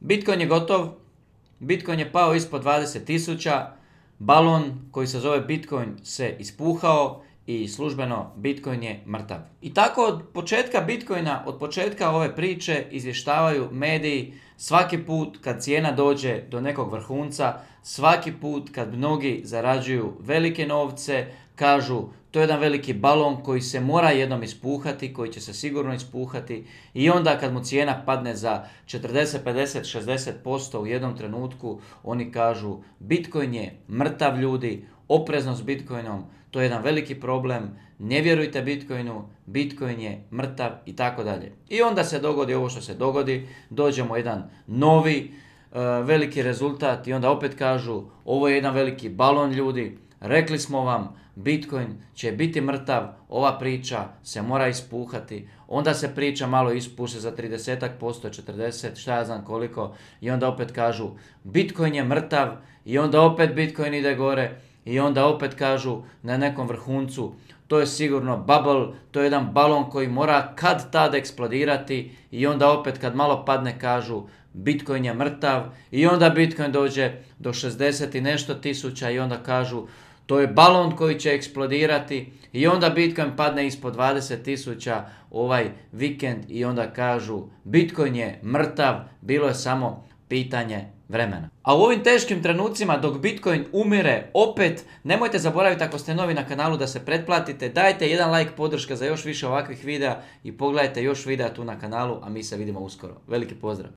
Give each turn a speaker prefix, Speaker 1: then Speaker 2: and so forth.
Speaker 1: Bitcoin je gotov, Bitcoin je pao ispod 20.000, balon koji se zove Bitcoin se ispuhao i službeno Bitcoin je mrtav. I tako od početka Bitcoina, od početka ove priče izvještavaju mediji svaki put kad cijena dođe do nekog vrhunca, svaki put kad mnogi zarađuju velike novce, kažu to je jedan veliki balon koji se mora jednom ispuhati, koji će se sigurno ispuhati i onda kad mu cijena padne za 40, 50, 60% u jednom trenutku, oni kažu Bitcoin je mrtav ljudi, oprezno s Bitcoinom, to je jedan veliki problem, ne vjerujte Bitcoinu, Bitcoin je mrtav i tako dalje. I onda se dogodi ovo što se dogodi, dođemo jedan novi veliki rezultat i onda opet kažu ovo je jedan veliki balon ljudi, rekli smo vam Bitcoin će biti mrtav, ova priča se mora ispuhati, onda se priča malo ispuše za 30%, 40%, šta ja znam koliko i onda opet kažu Bitcoin je mrtav i onda opet Bitcoin ide gore i onda opet kažu na nekom vrhuncu to je sigurno bubble, to je jedan balon koji mora kad tad eksplodirati i onda opet kad malo padne kažu Bitcoin je mrtav i onda Bitcoin dođe do 60 i nešto tisuća i onda kažu to je balon koji će eksplodirati i onda Bitcoin padne ispod 20.000 ovaj vikend i onda kažu Bitcoin je mrtav, bilo je samo pitanje vremena. A u ovim teškim trenucima dok Bitcoin umire opet, nemojte zaboraviti ako ste novi na kanalu da se pretplatite, dajte jedan like podrška za još više ovakvih videa i pogledajte još videa tu na kanalu, a mi se vidimo uskoro. Veliki pozdrav!